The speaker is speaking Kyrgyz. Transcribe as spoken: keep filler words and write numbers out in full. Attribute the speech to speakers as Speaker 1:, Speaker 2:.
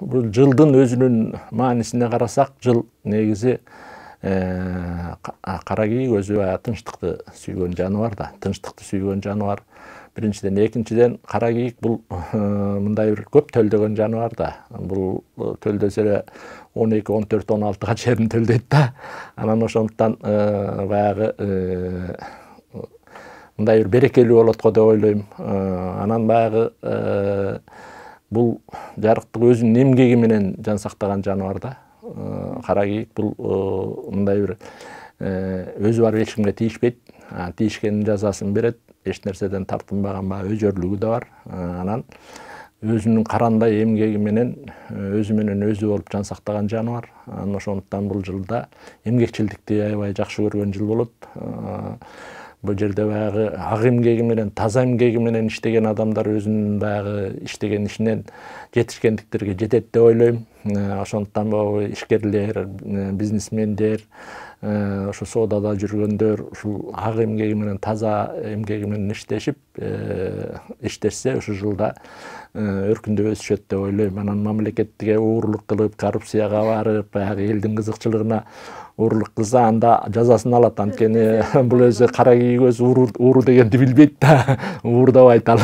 Speaker 1: Бул жылдын өзүнүн маанисине карасак, жыл негизи кара кийик өзү тынчтыкты сүйгөн жаныбар да, тынчтыкты сүйгөн жаныбар. Биринчиден, экинчиден кара кийик бул мындай бир көп төлдөгөн жаныбар да. Бул төлдөсө эле он эки, он төрт, он алтыга чейин төлдөйт да. Анан ошондуктан баягы мындай бир берекелүү болот го деп ойлойм. Анан баягы бул жарыктык өзүнүн эмгеги менен жан сактаган жаныбар да. Кара кийик бул мындай бир өзү барып эч кимге тийишпейт, тийишкенин жазасын берет, эч нерседен тартынбаган баягы өжөрлүгү да бар. Анан өзүнүн карандай эмгеги менен өзү менен өзү болуп жан сактаган жаныбар. Анан ошондуктан бул жылда эмгекчилдикти аябай жакшы көргөн жыл болот. Бул жерде баягы ак эмгеги менен, таза эмгеги менен иштеген адамдар өзүнүн баягы иштеген ишинен жетишкендиктерге жетет деп ойлойм. Ошондуктан могу ишкерлер, бизнесмендер, ошо соодада жүргөндөр ушул ак эмгеги менен, таза эмгеги менен иштешип, иштешсе ушул жылда өркүндөп өсүшөт деп ойлойм. Анан мамлекетке уурулук кылып, коррупцияга барып, баягы элдин кызыкчылыгына уурулук кылса, анда жазасын алат. Анткени бул өзү кара кийик өзү ууру дегенди билбейт да, уурдабайт ал.